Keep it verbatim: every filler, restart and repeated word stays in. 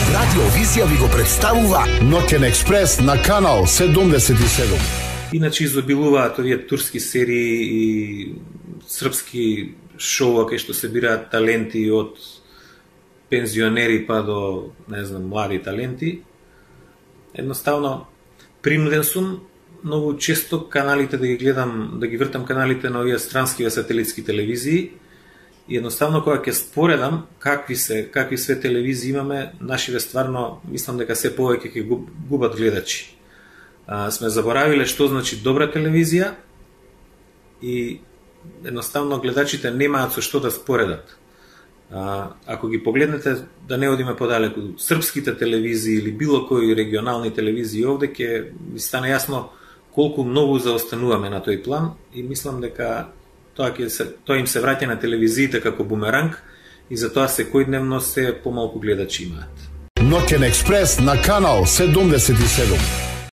Радио Визија ви го представува Ноќен експрес на канал седумдесет и седум. Иначе изобилуваат овие турски серии и српски шоуа кај што се бираат таленти од пензионери па до, не знам, млади таленти. Едноставно, принуден сум многу често каналите да ги гледам, да ги вртам каналите на овие странски сателитски телевизии. И едноставно кога ќе споредам какви се, какви све телевизии имаме, нашиве стварно мислам дека се повеќе ќе губат гледачи. А, сме заборавиле што значи добра телевизија и едноставно гледачите немаат со што да споредат. А, ако ги погледнете, да не одиме подалеку, српските телевизии или било кои регионални телевизии овде, ќе ви стане јасно колку многу заостануваме на тој план и мислам дека тоа, ќе се, тоа им се враќа на телевизиите како бумеранг и затоа секојдневно се помалку гледачи имаат. Ноќен експрес на канал седумдесет и седум.